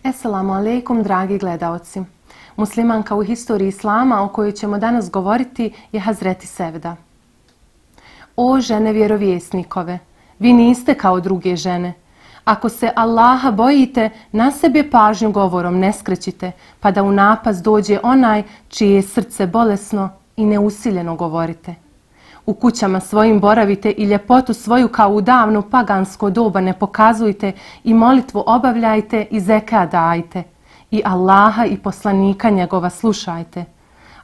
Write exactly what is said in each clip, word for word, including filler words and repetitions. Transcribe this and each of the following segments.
Esselamu alejkum, dragi gledaoci. Muslimanka u historiji Islama o kojoj ćemo danas govoriti je Hazreti Sevda. O žene vjerovjesnikove, vi niste kao druge žene. Ako se Allaha bojite, na sebe pažnju govorom ne skrećite, pa da u napast dođe onaj čije je srce bolesno i neusiljeno govorite. U kućama svojim boravite i ljepotu svoju kao u davno pagansko doba ne pokazujte i molitvu obavljajte i zekat dajte. I Allaha i poslanika njegova slušajte.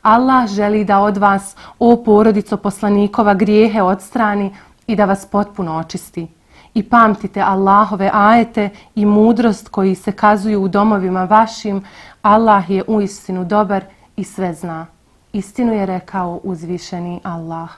Allah želi da od vas, o porodico poslanikova, grijehe odstrani i da vas potpuno očisti. I pamtite Allahove ajete i mudrost koji se kazuju u domovima vašim. Allah je uistinu dobar i sve zna. Istinu je rekao uzvišeni Allah.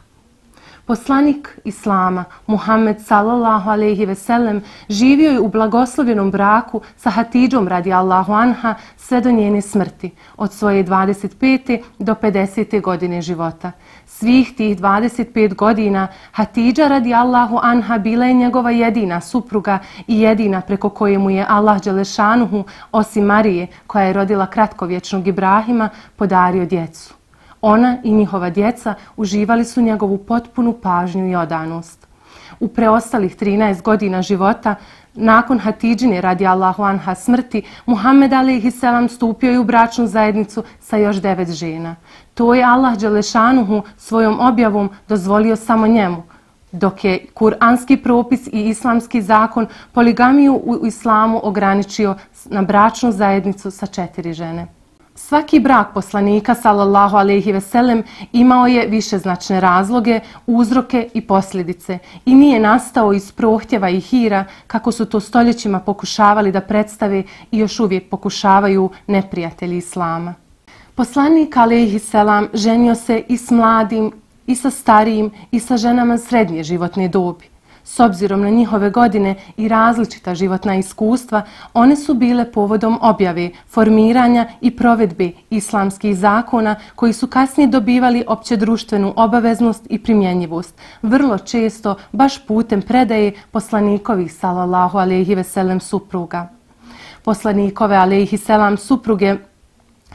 Poslanik Islama, Muhammed sallallahu alejhi ve sellem, živio je u blagoslovljenom braku sa Hatidžom radijallahu anha sve do njene smrti, od svoje dvadeset pete do pedesete godine života. Svih tih dvadeset pet godina Hatidža radijallahu anha bila je njegova jedina supruga i jedina preko koje mu je Allah dželešanuhu, osim Marije, koja je rodila kratkovječnog Ibrahima, podario djecu. Ona i njihova djeca uživali su njegovu potpunu pažnju i odanost. U preostalih trinaest godina života, nakon Hatidžine radijallahu anha smrti, Muhammed alejhi selam stupio je u bračnu zajednicu sa još devet žena. To je Allah dželešanuhu svojom objavom dozvolio samo njemu, dok je kuranski propis i islamski zakon poligamiju u islamu ograničio na bračnu zajednicu sa četiri žene. Svaki brak poslanika sallallahu alejhi ve sellem imao je višeznačne razloge, uzroke i posljedice i nije nastao iz prohtjeva i hira kako su to stoljećima pokušavali da predstave i još uvijek pokušavaju neprijatelji islama. Poslanik alejhi selam ženio se i s mladim, i sa starijim, i sa ženama srednje životne dobi. S obzirom na njihove godine i različita životna iskustva, one su bile povodom objave, formiranja i provedbe islamskih zakona koji su kasnije dobivali općedruštvenu obaveznost i primjenjivost, vrlo često baš putem predaje poslanikovih sallallahu alejhi ve sellem supruga. Poslanikove alejhi selam supruge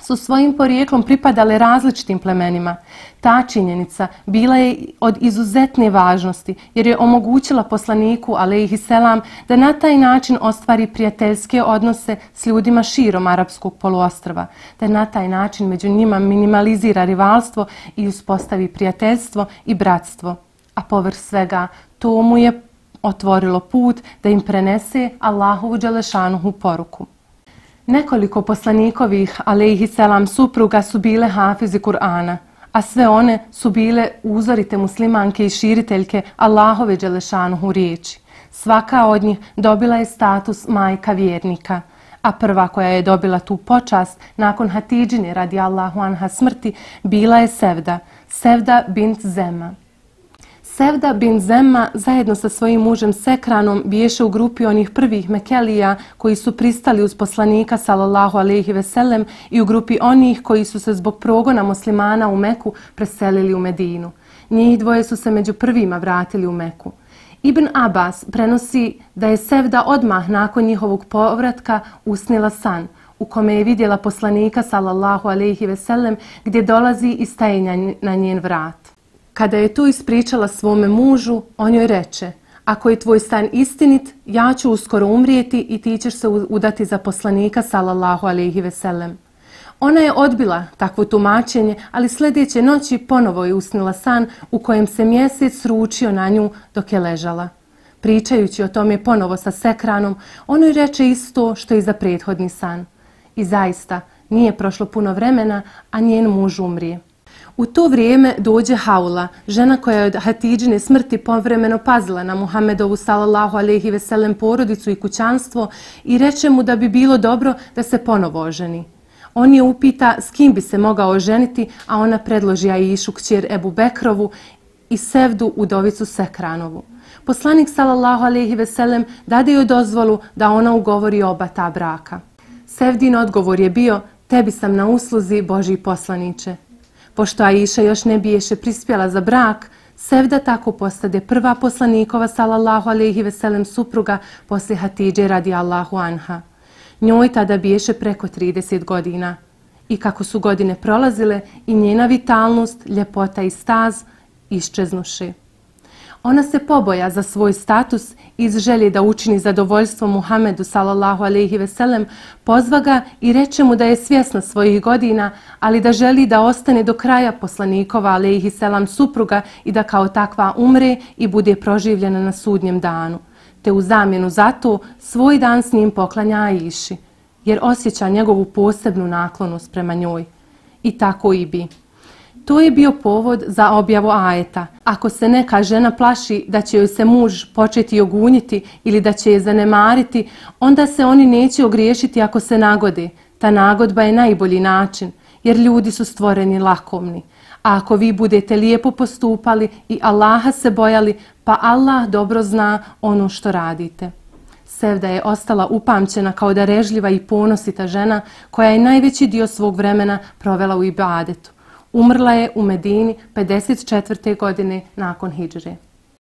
su svojim porijeklom pripadale različitim plemenima. Ta činjenica bila je od izuzetne važnosti jer je omogućila poslaniku alejhi selam da na taj način ostvari prijateljske odnose s ljudima širom arapskog poluostrva, da na taj način među njima minimalizira rivalstvo i uspostavi prijateljstvo i bratstvo. A povrh svega to mu je otvorilo put da im prenese Allahovu dželešanuhu poruku. Nekoliko poslanikovih alejhi selam supruga su bile hafizi Kur'ana, a sve one su bile uzorite muslimanke i širiteljke Allahove dželešanuhu riječi. Svaka od njih dobila je status majka vjernika, a prva koja je dobila tu počast nakon Hatidžine radijallahu anha smrti bila je Sevda, Sevda bint Zema. Sevda bin Zemma zajedno sa svojim mužem Sekranom biješe u grupi onih prvih Mekelija koji su pristali uz poslanika sallallahu alejhi ve sellem i u grupi onih koji su se zbog progona muslimana u Meku preselili u Medinu. Njih dvoje su se među prvima vratili u Meku. Ibn Abbas prenosi da je Sevda odmah nakon njihovog povratka usnila san u kome je vidjela poslanika sallallahu alejhi ve sellem gdje dolazi i staje na njen vrat. Kada je to ispričala svome mužu, on joj reče: ako je tvoj san istinit, ja ću uskoro umrijeti i ti ćeš se udati za poslanika sallallahu alejhi ve sellem. Ona je odbila takvo tumačenje, ali sljedeće noći ponovo je usnila san u kojem se mjesec sručio na nju dok je ležala. Pričajući o tome ponovo sa Sekranom, on joj reče isto što i za prethodni san. I zaista, nije prošlo puno vremena, a njen muž umrije. U to vrijeme dođe Haula, žena koja je od Hatidžine smrti povremeno pazila na Muhammedovu sallallahu alejhi ve sellem porodicu i kućanstvo i reče mu da bi bilo dobro da se ponovo oženi. On je upita s kim bi se mogao oženiti, a ona predloži Aišu, kćer Ebu Bekrovu, i Sevdu, udovicu Sekranovu. Poslanik sallallahu alejhi ve sellem dade joj dozvolu da ona ugovori oba ta braka. Sevdin odgovor je bio: tebi sam na usluzi, Božji poslaniče. Pošto Aiša još ne biješe prispjela za brak, Sevda tako postade prva poslanikova sallallahu alejhi ve sellem supruga poslije Hatidže radijallahu anha. Njoj tada biješe preko trideset godina. I kako su godine prolazile, i njena vitalnost, ljepota i staz iščeznuše. Ona se poboja za svoj status iz želje da učini zadovoljstvo Muhamedu sallallahu alejhi ve sellem, pozva ga i reče mu da je svjesna svojih godina, ali da želi da ostane do kraja poslanikova alejhi selam supruga i da kao takva umre i bude proživljena na sudnjem danu. Te u zamjenu za to svoj dan s njim poklanja Aiši, jer osjeća njegovu posebnu naklonost prema njoj. I tako i bi. To je bio povod za objavu ajeta. Ako se neka žena plaši da će joj se muž početi ogunjiti ili da će je zanemariti, onda se oni neće ogriješiti ako se nagode. Ta nagodba je najbolji način, jer ljudi su stvoreni lakomni. A ako vi budete lijepo postupali i Allaha se bojali, pa Allah dobro zna ono što radite. Sevda je ostala upamćena kao darežljiva i ponosita žena koja je najveći dio svog vremena provela u ibadetu. Umrla je u Medini pedeset četvrte godine nakon hidžre.